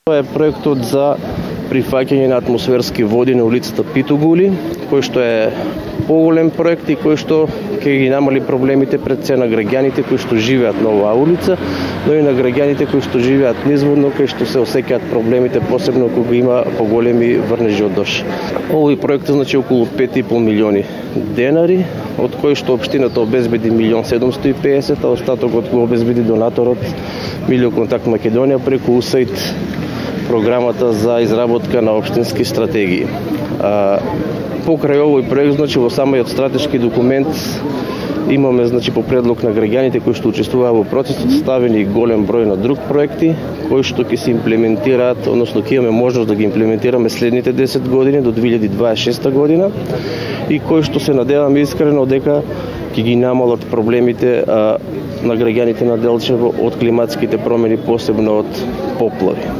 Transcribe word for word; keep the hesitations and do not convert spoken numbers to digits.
Тоа е проектот за прифаќање на атмосферски води на улицата Питогули, кој што е поголем проект и кој што ќе ги намали проблемите пред се на граѓаните кои што живеат на оваа улица, но и на граѓаните кои што живеат низводно, кои што се осеќаат проблемите, посебно кога има поголеми врнежи од дожд. Овој проект значи околу пет и пол милиони денари, од кои што општината обезбеди милион седумстотини и песет, а остатокот го обезбеди донаторот Милиоконтакт Македонија преку У С А И Д, програмата за изработка на општински стратегии. А, покрај овој проект, значи во самиот стратешки документ имаме, значи по предлог на граѓаните кои што учествуваат во процесот, ставени голем број на друг проекти кои што ќе се имплементираат, односно ќе имаме можност да ги имплементираме следните десет години до две илјади дваесет и шеста година и кои што се надеваме искрено дека ќе ги намалат проблемите а, на граѓаните на Делчево од климатските промени, посебно од поплави.